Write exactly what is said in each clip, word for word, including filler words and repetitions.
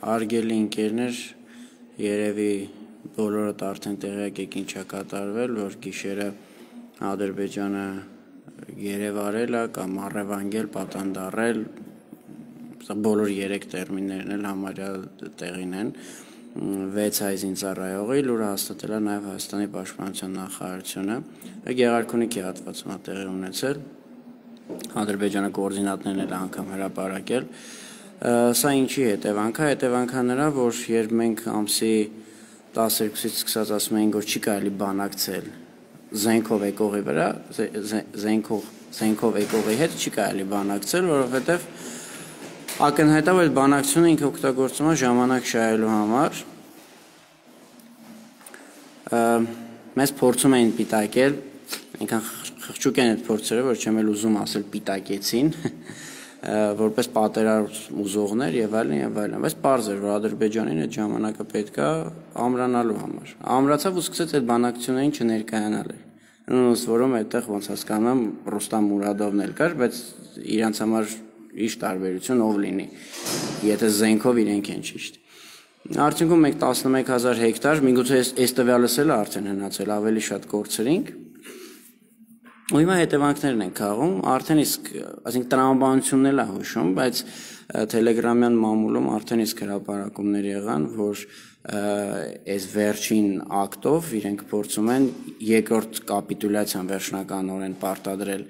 Արգելի ընկերներ, երևի բոլորդ արդեն տեղյակ եք ինչ է կատարվել, որ գիշերը Ադրբեջանը երևարել է կամ առևանգել, պատանդարել, բոլոր երեք տերմիններն էլ համարյա տեղին են, վեց հայ զինծառայողի լուրը հաստատել է նաև Հայաստանի պաշտպանության նախարարությունը, Գեղարքունիքի հատվածում է տեղի ունեցել, Ադրբեջանը կոորդինատներն էլ անգամ հրապարակել, Սա ինչի հետևանք է, հետևանք է նրա, որ երբ մենք ամսի տասներկուսից սկսած ասում ենք, որ չի կարելի բանակցել զենքով եկողի վրա, զենքով եկողի հետ չի կարելի բանակցել, որովհետև ակնհայտ է, որ բանակցությունը ինքը օգտագործում է ժամանակ շահելու համար, մեզ փորձում էին պիտակել, այնքան խղճուկ են այդ փորձերը, որ չեմ էլ ուզում ասել պիտակեցին, որպես պատերազմ ուզողներ եւ այլն եւ այլն, բայց պարզ էր, որ Ադրբեջանին այդ ժամանակը պետք է ամրանալու համար։ Ամրացավ ու սկսեց այդ բանակցություններին չներկայանալ։ Նույնիսկ որում այդտեղ ոնց հասկանում եմ Ռուստամ Մուրադովն էլ կար, բայց իրանց համար ինչ տարբերություն ով լինի, եթե զենքով իրենք են ճիշտ։ Արդյունքում մենք տասնմեկ հազար հեկտար, միգուցե այս տվյալս էլ արդեն հնացել, ավելի շատ կորցրինք։ Ու հիմա հետևանքներն են քաղում, արդեն իսկ, այսինքն տրամաբանությունն էլ է հուշում, բայց Telegram-յան մամուլում արդեն իսկ հրապարակումներ եղան, որ այս վերջին ակտով իրենք փորձում են երկրորդ կապիտուլյացիան վերջնականորեն պարտադրել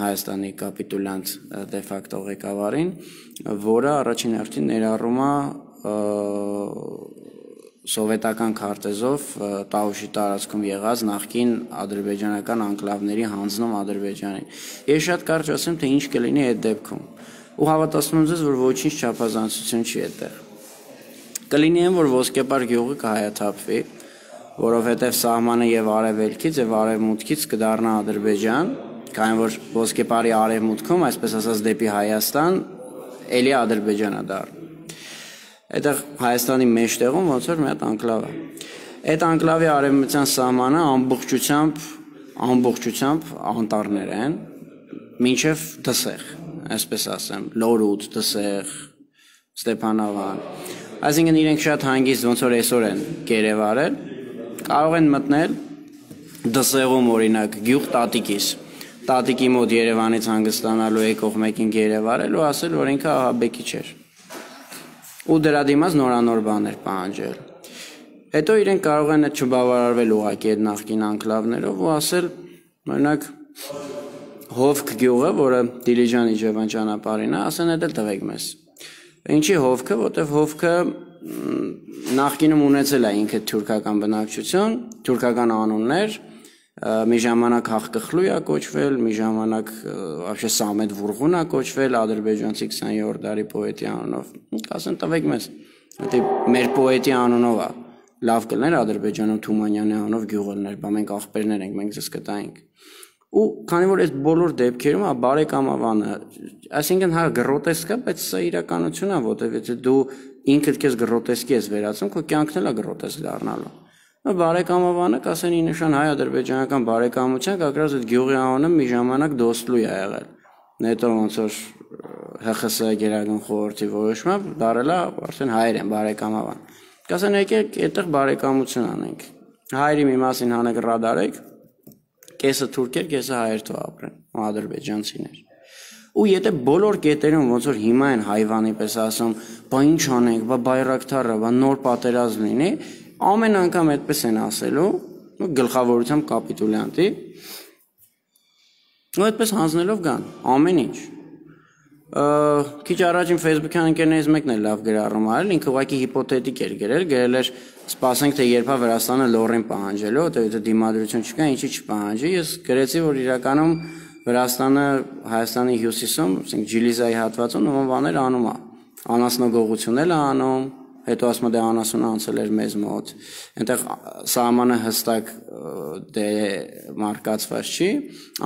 Հայաստանի կապիտուլյանտ դե ֆակտո ղեկավարին, որը առաջին հերթին ներառում է սովետական քարտեզով Տաուշի տարածքում եղած նախկին ադրբեջանական անկլավների հանձնում Ադրբեջանին։ Ես շատ կարճ ասեմ, թե ինչ կլինի այդ դեպքում։ Ու հավատացնում եմ ձեզ, որ ոչինչ չափազանցություն չի այդտեղ։ Կլինի այն, որ Ոսկեպար գյուղը կհայաթափվի, որովհետև սահմանը եւ արևելքից եւ արևմուտքից կդառնա Ադրբեջան, քանի որ Ոսկեպարի արևմուտքում, այսպես ասած, դեպի Հայաստան, էլի Ադրբեջանա դառնում։ Այդտեղ Հայաստանի մեջտեղում ոնց որ մի հատ անկլավ է։ Այդ անկլավի արևմտյան սահմանը ամբողջությամբ ամբողջությամբ անտառներ են, մինչև Դսեղ, այսպես ասեմ, Լորուտ, Դսեղ, Ստեփանավան։ Այսինքն իրենք շատ հանգիստ ոնց որ այսօր են գերեվարել, կարող են մտնել Դսեղում օրինակ գյուղ Տատիկիս։ Տատիկի մոտ Երևանից հանգստանալու եկող մեկին գերեվարել ու ասել, որ ինքը ահաբեկիչ էր։ Ու դրա դիմաց նորանոր բաներ պահանջել։ Հետո իրենք կարող են այդ չբավարարվել ուղղակի այդ նախկին անկլավներով ու ասել, օրինակ Հովք գյուղը, որը Դիլիջան Իջևան ճանապարհին է, ասեն այդ էլ տվեք մեզ։ Ինչի Հովքը, որտեվ Հովքը նախկինում ունեցել է ինքը թուրքական բնակչություն, թուրքական անուններ, մի ժամանակ Հաղկխլույ է կոչվել, մի ժամանակ вообще Սամեդ Վուրղուն է կոչվել, ադրբեջանցի քսաներորդ դարի պոետի անունով։ Ասեն տվեք մեզ, դա մեր պոետի անունով է։ Լավ կլներ Ադրբեջանում Թումանյանի անունով գյուղ լներ, բա մենք ախպերներ ենք, մենք ձեզ կտայինք։ Ու քանի որ այս բոլոր դեպքերում է բարեկամավանը, այսինքն հա գրոտեսկ է, բայց սա իրականություն է, որտեղ եթե դու ինքդ քեզ գրոտեսկի ես վերածում, քո կյանքն էլ է գրոտեսկ դառնալու։ Բարեկամավանը կասեն ի նշան հայ-ադրբեջանական բարեկամության, կակրած այդ գյուղի անունը մի ժամանակ Դոստլույ է եղել։ Հետո ոնց որ Հ Խ С գերագույն խորհրդի որոշմամբ դարել է արդեն հայեր են բարեկամավան։ Կասեն եկեք այդտեղ բարեկամություն անենք։ Հայերի մի մասին հանրադարեք, կեսը թուրքեր, կեսը հայեր թող ապրեն, ադրբեջանցիներ։ Ու եթե բոլոր կետերում ոնց որ հիմա են հայվանի պես ասում, բա ինչ անենք, բա բայրակթարը, բա նոր պատերազմ լինի, ամեն անգամ այդպես են ասելու, գլխավորությամբ կապիտուլյանտի, ու այդպես հանձնելով գան, ամեն ինչ։ Քիչ առաջ իմ Facebook-յան ընկերներից մեկն էլ լավ գրառում արել, ինքը ուղղակի հիպոթետիկ էր գրել, գրել էր, սպասենք թե երբ է Վրաստանը լոռին պահանջելու, որտեղ եթե դիմադրություն չկա, ինչի չպահանջի, ես գրեցի, որ իրականում Վրաստանը Հայաստանի հյուսիսում, ասենք Ջիլիզայի հատվածում նման բաներ անում է, անասնագողություն էլ է անում, հետո ասում է դե անասունը անցել էր մեզ մոտ, այնտեղ սահմանը հստակ դե մարկացված չի,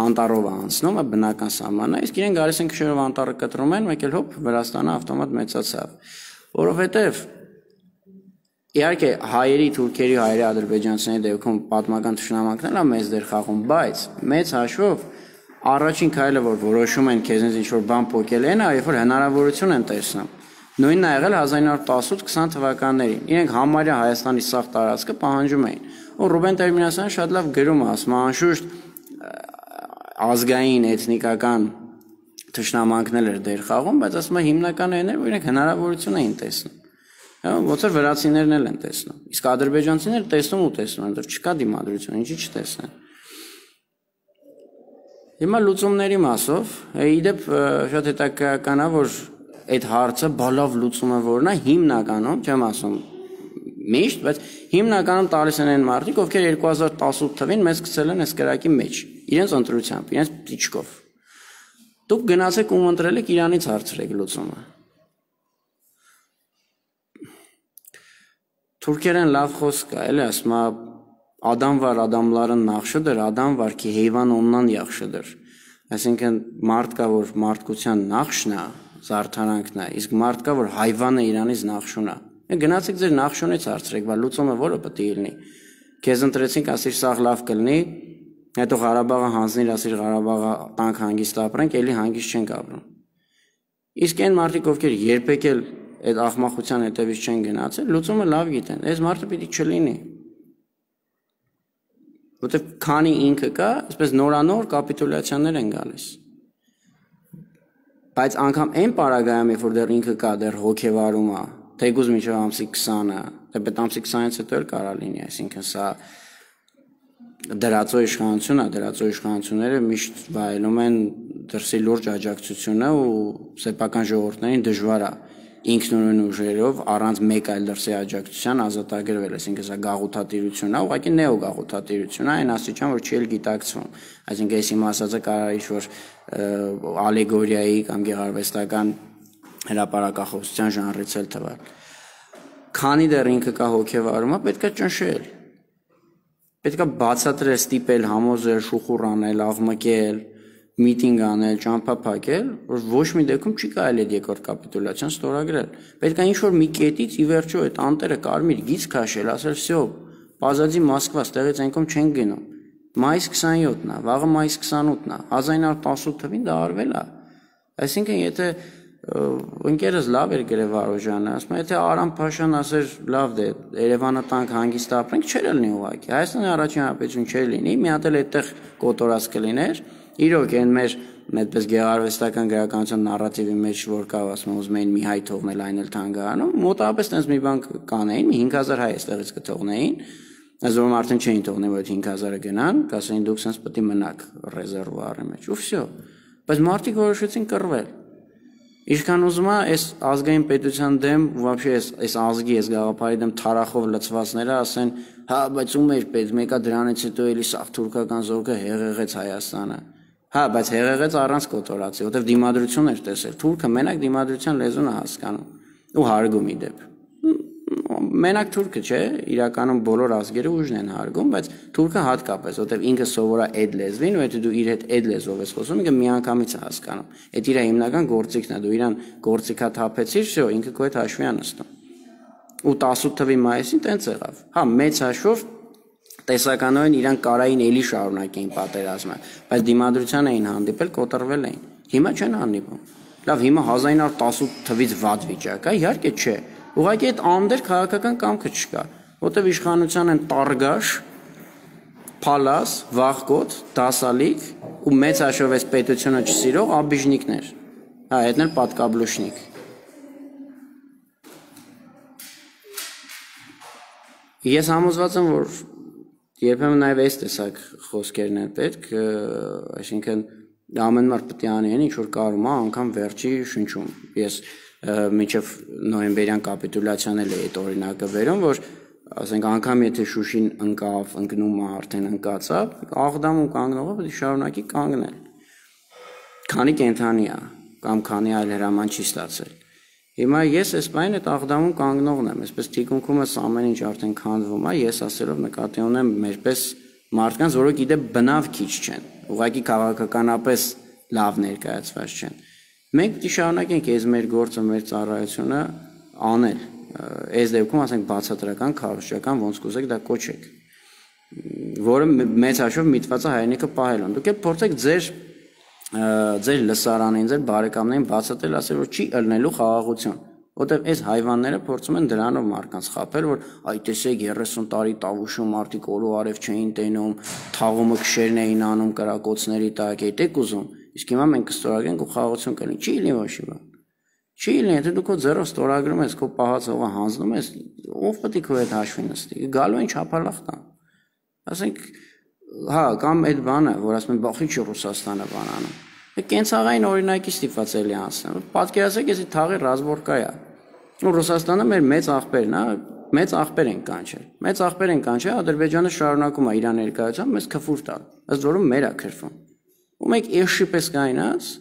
անտառով է անցնում, բնական սահմանը, իսկ իրեն գալիս են քշերով անտառը կտրում են, մեկ էլ հոպ Վրաստանը ավտոմատ մեծացավ, որովհետև իհարկե հայերի, թուրքերի, հայերի, ադրբեջանցիների դեպքում պատմական թշնամանքն է մեծ դեր խաղում, բայց մեծ հաշվով առաջին քայլը որ որոշում են քեզնից ինչ որ բան փոկել են, երբ որ հնարավորություն են տեսնում Նույնն ա եղել հազար ինը հարյուր տասութ քսան թվականներին։ Իրենք համարյա Հայաստանի սաղ տարածքը պահանջում էին։ Ու Ռուբեն Տեր-Մինասյանը շատ լավ գրում է, ասում է, անշուշտ ազգային, էթնիկական թշնամանքներ էր դեր խաղում, բայց ասում է հիմնական այն էր, որ իրենք հնարավորություն էին տեսնում։ Ոնց որ վրացիներն էլ են տեսնում։ Իսկ ադրբեջանցիները տեսնում ու տեսնում են, դեռ չկա դիմադրություն, ինչի չտեսնեն։ Հիմա լուծումների մասով, իդեպ շատ հետաքրքրական է, որ այդ հարցը բալավ լուծումը որն է հիմնականում, չեմ ասում միշտ, բայց հիմնականում տալիս են այն մարդիկ, ովքեր երկու հազար տասութ թվականին մեզ գցել են այս կրակի մեջ, իրենց ընտրությամբ, իրենց տիճկով։ Դուք գնացեք ու ընտրել եք Իրանից հարցրեք լուծումը։ Թուրքերեն լավ խոսք է, էլի ասում է Adam var adamların naxşıdır, adam var ki heyvan ondan yaxşıdır։ Այսինքն մարդ կա, որ մարդկության նախշն է, զարդարանքն է, իսկ մարդ կա, որ հայվանը իրանից նախշուն է։ Գնացեք ձեր նախշունից հարցրեք, բա լուծումը որը պետք է լինի։ Քեզ ընտրեցինք, ասիր սաղ լավ կլինի, հետո Ղարաբաղը հանձնիր, ասիր Ղարաբաղը տանք հանգիստ ապրենք, էլի հանգիստ չենք ապրում։ Իսկ այն մարդիկ, ովքեր երբեք էլ այդ աղմախության հետևից չեն գնացել, լուծումը լավ գիտեն։ Այս մարդը պիտի չլինի։ Որտեւ քանի ինքը կա, այսպես նորանոր կապիտուլյացիաներ են գալիս։ Բայց անգամ այն պարագայում, երբ որ դեռ ինքը կա, դեռ հոգեվարում է, թեկուզ մինչև ամսի քսանը, թեպետ ամսի քսանից հետո էլ կարա լինի, այսինքն սա դրածո իշխանություն է, դրածո իշխանությունները միշտ վայելում են դրսի լուրջ աջակցությունը ու սեփական ժողովուրդներին դժվար է ինքնուրույն ուժերով առանց մեկ այլ դրսի աջակցության ազատագրվել, այսինքն սա գաղութատիրություն է, ուղղակի նեոգաղութատիրություն է, այն աստիճան, որ չի էլ գիտակցվում։ Այսինքն այս իմ ասածը կարող է ինչ-որ ալեգորիայի կամ գեղարվեստական հրապարակախոսության ժանրից էլ թվալ։ Քանի դեռ ինքը կա հոգեվարումը, պետք է ճնշել։ Պետք է բացատրել, ստիպել, համոզել, շուխուռ անել, աղմկել, միտինգ անել, ճամփա փակել, որ ոչ մի դեպքում չի կարելի այդ երկրորդ կապիտուլյացիան ստորագրել։ Պետք է ինչ-որ մի կետից ի վերջո այդ անտերը կարմիր գիծ քաշել, ասել «Всё, Պազադի Մոսկվա, ստեղից այնքան չեն գնում»։ Մայիս քսանյոթն է, վաղը մայիս քսանութն է, հազար ինը հարյուր տասութ թվականին դա արվել է։ Այսինքն եթե ընկերս լավ էր գրել Վարոժյանը, ասում է, եթե Արամ Փաշան ասեր լավ դե Երևանը տանք հանգիստ ապրենք, չէր լինի ուղղակի։ Հայաստանի առաջին հանրապետություն չէր լինի, մի հատ էլ այդտեղ կոտորած կլիներ։ Իրոք այն մեր այդպես գեղարվեստական գրականության նարատիվի մեջ որ կա, ասում եմ, ուզում էին մի հայ թողնել, այն էլ թանգարանում, մոտավորապես տենց մի բան կանեին, մի հինգ հազար հայ այստեղից կթողնեին, այսօր արդեն չէին թողնի, որ այդ հինգ հազարը գնան, կասեին դուք sense պետք է մնաք ռեզերվուարի մեջ, ու всё։ Բայց մարդիկ որոշեցին կռվել։ Ինչքան ուզում է այս ազգային պետության դեմ, вообще այս այս ազգի, այս գաղափարի դեմ թարախով լցվածները ասեն, հա, բայց ում էր պետք, մեկը դրանից հետո էլի սաղ թուրքական զորքը հեղեղեց Հայաստանը։ Հա, բայց հեղեղեց առանց կոտորացի, որտեվ դիմադրություն էր տեսել։ Թուրքը մենակ դիմադրության լեզուն է հասկանում ու հարգում ի դեպ։ Մենակ թուրքը չէ, իրականում բոլոր ազգերը ուժն են հարգում, բայց թուրքը հատկապես, որտեվ ինքը սովորա այդ լեզվին, ու եթե դու իր հետ այդ լեզվով ես խոսում, ինքը միանգամից է հասկանում։ Այդ իր հիմնական գործիքն է, դու իրան գործիքա թափեցիր, всё, ինքը քո հետ հաշվի է նստում։ Ու տասութ թվականի մայիսին տենց եղավ։ Հա, մեծ հաշվով տեսականորեն իրան կարային էլի շարունակեին պատերազմը, բայց դիմադրության էին հանդիպել, կոտրվել էին։ Հիմա չեն հանդիպում։ Լավ, հիմա հազար ինը հարյուր տասութ թվականից վատ վիճակ է, իհարկե չէ։ Ուղղակի այդ անդեր քաղաքական կամքը չկա, որտեղ իշխանության են Տարգաշ, Փալաս, Վախկոտ, Դասալիկ ու մեծ հաշվով այս պետությունը չսիրող աբիժնիկներ։ Հա, հետն էլ պատկաբլուշնիկ։ Ես համոզված եմ, որ երբեմն նաև այս տեսակ խոսքերն են պետք, այսինքն ամեն մարդ պետք է անի այն, ինչ որ կարում է, անգամ վերջի շնչում։ Ես մինչև նոյեմբերյան կապիտուլյացիան էլ է այդ օրինակը վերում, որ ասենք անգամ եթե Շուշին ընկավ, ընկնում է, արդեն ընկածավ, Աղդամում կանգնողը պետք է շարունակի կանգնել։ Քանի կենթանի է, կամ քանի այլ հրաման չի ստացել։ Հիմա ես այս բանը այդ Աղդամում կանգնողն եմ, այսպես թիկունքումս ամեն ինչ արդեն քանդվում է, ես ասելով նկատի ունեմ մերպես մարդկանց, որոնք իդեպ բնավ քիչ չեն, ուղղակի քաղաքականապես լավ ներկայացված չեն։ Մենք պիտի շարունակենք այս մեր գործը, մեր ծառայությունը անել։ Այս դեպքում ասենք բացատրական, քարոզչական, ոնց կուզեք դա կոչեք, որը մեծ հաշվով միտված է հայրենիքը պահելուն։ Դուք էլ փորձեք ձեր ձեր լսարանին, ձեր բարեկամներին բացատրել, ասել որ չի ըլնելու խաղաղություն։ Որտեւ այս հայվանները փորձում են դրանով մարդկանց խաբել, որ այ տեսեք երեսուն տարի Տավուշում մարդիկ օրու արև չէին տենում, թաղումը քշերն էին անում կրակոցների տակ, եկեք ուզում։ Իսկ հիմա մենք կստորագրենք ու խաղաղություն կլինի։ Չի լինի ոչինչ բան։ Չի լինի, եթե դու քո ձեռով ստորագրում ես, քո պահած հողը հանձնում ես, ով պետք է քո հետ հաշվի նստի։ Գալու են չափալախ տան։ Ասենք, հա, կամ այդ բանը, որ ասում են, բախի չի Ռուսաստանը բան անում։ Կենցաղային օրինակի ստիպված էլի անցնեմ։ Պատկերացրեք, էսի թաղի ռազմորկա է։ Ու Ռուսաստանը մեր մեծ աղբերն է, մեծ աղբեր են կանչել։ Մեծ աղբեր են կանչել, Ադրբեջանը շարունակում է իր ներկայությամբ մեզ քֆուր տալ։ Ըստ որում մեր է քրվում։ Ու մենք էշի պես կայնած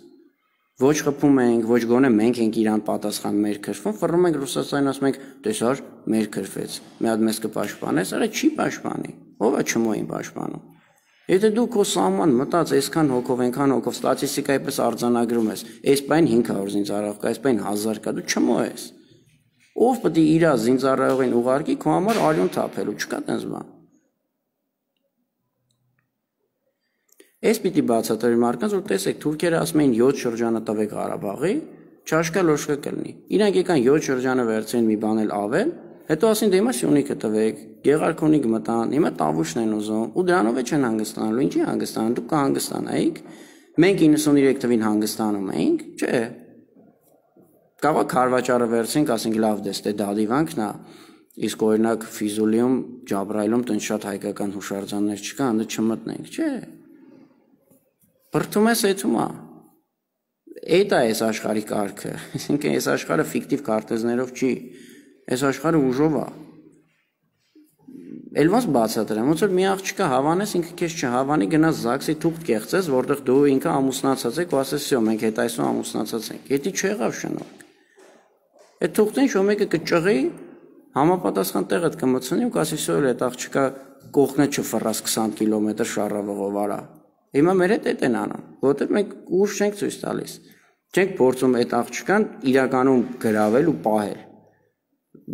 ոչ խփում ենք, ոչ գոնե մենք ենք իրան պատասխան մեր քրվում, ֆռռում ենք Ռուսաստանին, ասում ենք, տեսար, մեր քրվեց։ Մի հատ մեզ կպաշտպանես, արա չի պաշտպանի։ Ո՞վ է չմոյին պաշտպանում։ Եթե դու քո սահման մտած այսքան հոգով, այնքան հոգով ստատիստիկայի պես արձանագրում ես, այս բան հինգ հարյուր զինծառայող կա, այս բան հազար կա, դու չմոյես։ Ով պետք է իր զինծառայողին ուղարկի քո համար արյուն թափելու, չկա տենց բան։ Այս պիտի բացատրի մարդկանց, որ տեսեք, թուրքերը ասում էին յոթ շրջանը տվեք Ղարաբաղի, չաշկա լոշկա կլինի։ Իրանք եկան յոթ շրջանը վերցրին մի բան էլ ավել, հետո ասին դե հիմա Սյունիքը տվեք, Գեղարքունիք մտան, հիմա Տավուշն են ուզում, ու դրանով է չեն հանգստանալու, ինչի հանգստանան, դուք կհանգստանայիք, մենք իննսուններեք թվին հանգստանում էինք, չէ։ Կարող քարվաճարը վերցինք, ասենք լավ դես, դե դադիվանքն է, իսկ օրինակ Ֆիզուլիում, Ջաբրայիլում տենց շատ հայկական հուշարձաններ չկա, անդը չմտնենք, չէ։ Բրդում ես էթում է։ Էդ է այս աշխարհի կարգը։ Այսինքն այս աշխարհը ֆիկտիվ քարտեզներով չի։ Այս աշխարհը ուժով է։ Էլ ոնց բացատրեմ, ոնց որ մի աղջիկը հավանես, ինքը քեզ չհավանի, գնաս ԶԱԳՍ-ի թուղթ կեղծես, որտեղ դու ինքը ամուսնացած եք, ու ասես, «Սյո, մենք հետ այսօր ամուսնացած ենք»։ Եթե չեղավ շնորհք։ Այդ թուղթին շո մեկը կճղի, համապատասխան տեղդ կմցնի ու կասի, «Սյո, այդ աղջիկա կողքնը չֆռաս քսան կիլոմետր շառավղով արա»։ Հիմա մեր հետ էդ են անում, որովհետև մենք ուժ չենք ցույց տալիս։ Չենք փորձում այդ աղջկան իրականում գրավել ու պահել։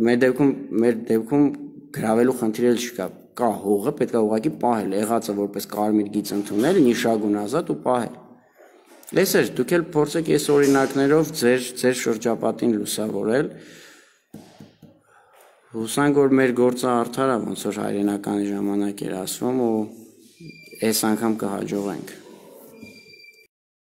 Մեր դեպքում, մեր դեպքում գրավելու խնդիր էլ չկա։ Կա հողը, պետք է ուղղակի պահել, եղածը որպես կարմիր գիծ ընդունել, նիշագուն ազատ ու պահել։ Լսեր, դուք էլ փորձեք այս օրինակներով ձեր ձեր շրջապատին լուսավորել։ Հուսանք, որ մեր գործը արդար է, ոնց որ հայրենական ժամանակ էր ասվում ու այս անգամ կհաջողենք։